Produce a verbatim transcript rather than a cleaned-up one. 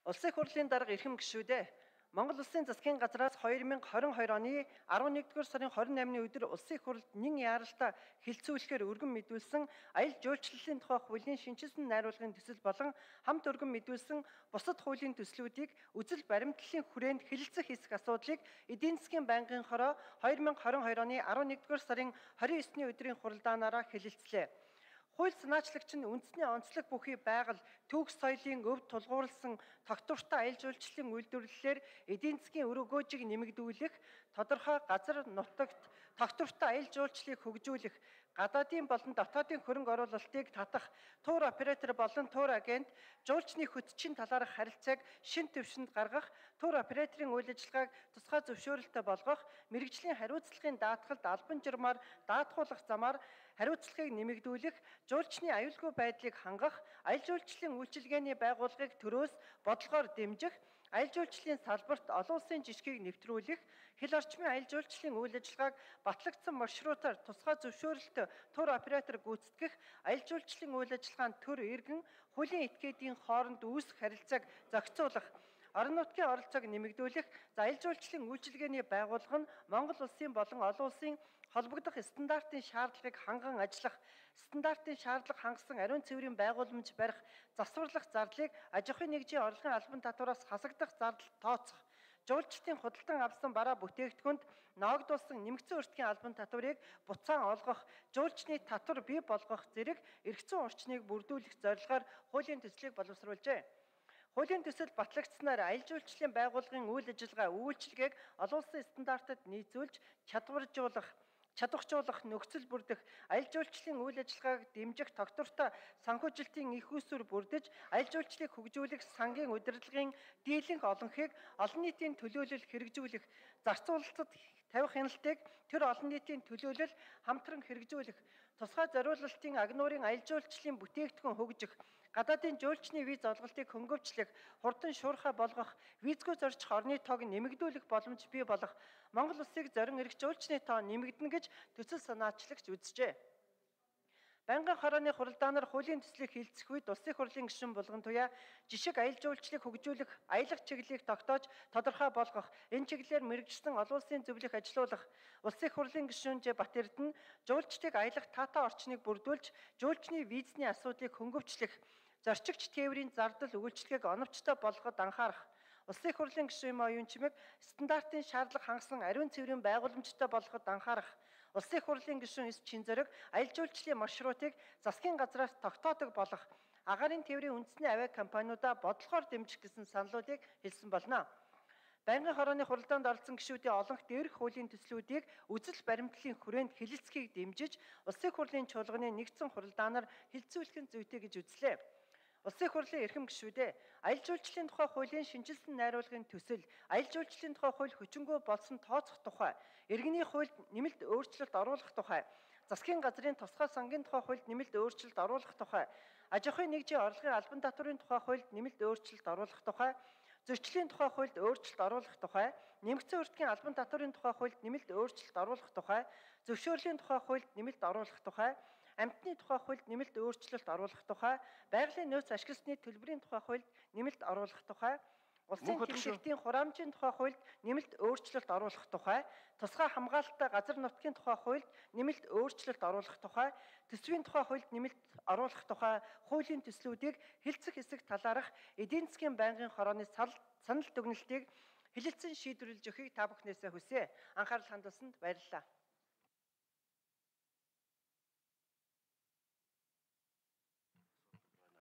Улсын их хурлын дарга эрхэм гишүүдээ Монгол Улсын засгийн газраас хоёр мянга хорин хоёр оны арван нэгдүгээр сарын хорин наймны өдөр Улсын их хурлд нэн яаралтай хилцүүлэхээр өргөн мэдүүлсэн аялал жуулчлалын тухай хуулийн шинжилсэн найруулгын төсөл болон хамт өргөн мэдүүлсэн бусад хуулийн төслүүдийг үзэл баримтлалын хүрээнд хэлэлцэх хэсэг асуудлыг эдийн засгийн байнгын хороо хоёр мянга хорин хоёр оны арван нэгдүгээр сарын хорин есний өдрийн хуралдаанаараа хэлэлцлээ. Хууль санаачлагч нь үндэсний онцлог бүхий байгаль, төгс соёлын өвд тулгуурласан тогтвортой аялал жуулчлалын үйлдвэрлэлээр эдийн засгийн өр өгөөжийг нэмэгдүүлэх, тодорхой газар нутагт тогтвортой аялал жуулчлалыг хөгжүүлэх, гадаадын болон дотоодын хөрөнгө оруулалтыг татах, тур оператор болон тур агент жуулчны хөтчийн талаарх харилцааг шин түвшинд гаргах, тур операторын үйл ажиллагааг тусгай зөвшөөрөлтөй болгох, мэргэжлийн хариуцлагын даатгалд албан журмаар даатгуулах замаар хариуцлагыг нэмэгдүүлэх, жуулчны аюулгүй байдлыг хангах, аялал жуулчлалын үйлчилгээний байгууллагыг төрөөс бодлогоор дэмжих, аялал жуулчлалын салбарт олон улсын жишгийг нэвтрүүлэх, хил орчмын аялал жуулчлалын үйл ажиллагааг батлагдсан маршрутаар тусгай зөвшөөрөлтөй тур оператор гүйцэтгэх, аялал жуулчлалын үйл ажиллагаанд төр иргэн хуулийн этгээдийн хооронд үүсэх харилцааг зохицуулах, орон нутгийн оролцоог нэмэгдүүлэх, аялал жуулчлалын үйлчилгээний байгууллага нь Монгол улсын болон олон улсын холбогдох стандартын шаардлагыг ханган ажиллах, стандартын шаардлага хангасан ариун цэврийн байгууламж барих, засварлах зардлыг аж ахуйн нэгжийн орлогын албан татвараас хасагдах зардал тооцох, жуулчдын худалдан авсан бараа бүтээгдэхүүнд ноогдуулсан нэмэгдсэн өртгийн албан татварыг буцаан олгох, жуулчны татвар бий болгох зэрэг эргэцэн орчныг бүрдүүлэх зорилгоор хуулийн төслийг боловсруулжээ. Хуулийн төсөл батлагдсанаар аялал жуулчлалын байгууллагын үйл ажиллагаа үйлчилгээг олон улсын стандартад нийцүүлж чадваржуулах, чадваржуулах, нөхцөл бүрдэх, аялал жуулчлалын үйл ажиллагааг дэмжих тогтвортой санхүүжилтийн их усүр бүрдэж, аялал жуулчлалыг хөгжүүлэх сангийн удирдлагын дийлэнх олонхийг олон нийтийн төлөөлөл хэрэгжүүлэх, зарцуулалтад тавих хяналтыг тэр олон нийтийн төлөөлөл хамтран хэрэгжүүлэх, тусгай зориулалтын агнуурын аялал жуулчлалын бүтээгдэхүүн хөгжих, гадаадын жуулчны виз олголтыг хөнгөвчлөх, хурдан шуурхай болгох, визгүй зорчих орны тоог нэмэгдүүлэх боломж бий болох, Монгол улсыг зорин ирэх жуулчны тоо нэмэгдэнэ гэж төсөл санаачлагч үзжээ. Байнгын хорооны хуралдаанаар хуулийн төслийг хилцэх үед улсын их хурлын гишүүн булган туяа жишг аялал жуулчлалыг хөгжүүлэх, аялах чиглэлийг тогтоож тодорхой болгох, энэ чиглэлээр мэргэжсэн олон улсын зөвлөх ажилуулах, улсын их хурлын гишүүн Ж Бат Эрдэнэ жуулчдыг аялах таатай орчныг бүрдүүлж, жуулчны визний асуудлыг хөнгөвчлөх, зорчигч тээврийн зардал үйлчлэгийг оновчтой болгоход анхаарах, улсын их хурлын гишүүн оюун чимэг стандартын шаардлага хангасан ариун цэврийн байгууламжтай болгоход анхаарах, улсын их хурлын гишүүн С Чин Зориг аялал жуулчлалын маршрутыг засгийн газраас тогтоодог болох, агаарын тээврийн үндэсний авиа компаниудаа бодлогоор дэмжих гэсэн саналуудыг хэлсэн болно. Байнгын хорооны хуралдаанд оролцсон гишүүдийн олонх дээрх хуулийн төслүүдийг үзэл баримтлалын хүрээнд хэлэлцэхийг дэмжиж, улсын их хурлын чуулганы нэгдсэн хуралдаанаар хэлэлцүүлэх нь зүйтэй гэж үзлээ. Улсын их хурлын эрхэм гишүүдээ аялал жуулчлалын тухай хуулийн шинжилсэн найруулгын төсөл, аялал жуулчлалын тухай хууль хүчингү болсон тооцох тухай, иргэний хуульд нэмэлт өөрчлөлт оруулах тухай, засгийн газрын тусгай сангийн тухай хуульд нэмэлт өөрчлөлт оруулах тухай, аж ахуйн нэгжийн орлогын албан татварын тухай хуульд нэмэлт өөрчлөлт оруулах тухай, зөрчлийн тухай хуульд өөрчлөлт оруулах тухай, нэмэгдсэн өртгийн албан татварын тухай хуульд нэмэлт өөрчлөлт оруулах тухай, зөвшөөрлийн тухай хуульд нэмэлт оруулах тухай, амьтны тухай хуульд нэмэлт өөрчлөлт оруулах тухай, байгалийн нөөц ашигласны төлбөрийн тухай хуульд нэмэлт оруулах тухай, улсын тэмдэгтийн хураамжийн тухай хуульд нэмэлт өөрчлөлт оруулах тухай, тусгай хамгаалалттай газар нутгийн тухай хуульд нэмэлт өөрчлөлт оруулах тухай, төсвийн тухай хуульд нэмэлт оруулах тухай хуулийн төслүүдийг хэлцэх хэсэг талаарх эдийн засгийн байнгын хорооны санал дүгнэлтийг хэлэлцэн шийдвэрлэж өгөхийг та бүхнээсээ хүсье. Анхаарал хандуулсанд баярлалаа.